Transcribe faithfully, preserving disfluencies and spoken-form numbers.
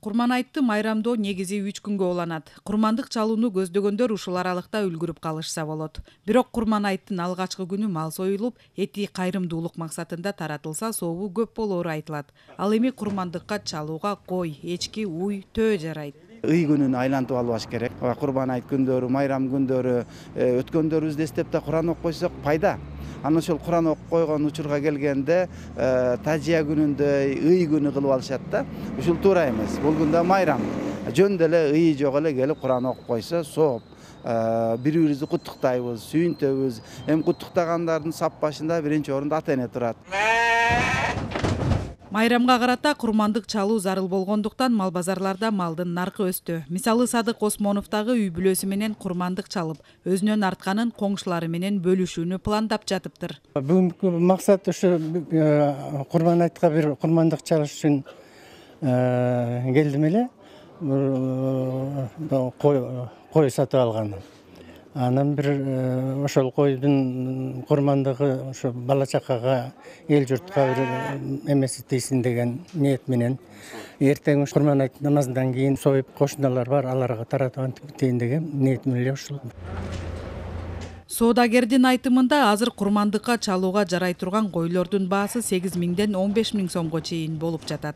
Курман айтты майрамдоо негизи үч күнгө уланат. Курмандык чалууну көздөгөндөр ушул аралыкта үлгүрүп калышса болот. Бирок Курман айттын алгачкы күнү мал союлуп, эти кайрымдуулук максатында таратылса сообу көп болоору айтылат. Ал эми курмандыкка чалууга кой, эчки, уй, төө жарайт. Ый күнүн айлантып албаш керек. Курман айт күндөрү, майрам күндөрү өткөндөрүбүздү эстеп да Куран окуп койсок пайда. Анан ошол Куран окуп койгон учурга келгенде тажия күнүндө ый күнү кылып алышат да. Ушул туура эмес. Бул күндө майрам. Жөн деле ый жок эле келип Куран окуп койсо сооп. Бири-бирибизди куттуктайбыз, сүйүнтөбүз. Эми куттуктагандардын сап башында биринчи орунда ата эне турат. Майрамга карата курмандык чалуу зарыл болгондуктан мал базарларда малдын наркы өстү. Мисалы Садык Осмоновдагы үй бүлөсү менен курмандык чалып, өзүнөн артканын коңшулары менен бөлүшүүнү пландап жатыптыр. Бүгүнкү максат ушу Курман айтка бир курмандык чалыш үчүн келдим эле. Кой сатып алган. Анан бир ошол койдун курмандыгы ошо бала чакага, эл журтка бир эмеси тийсин деген ниет менен эртең Курман айт намазынан кийин союп кошуналар бар, аларга таратып антиптейин деген ниетим эле ушул. Соодагердин айтымында азыр курмандыкка чалууга жарай турган койлордун баасы сегиз миңден он беш миң сомго чейин болуп жатат.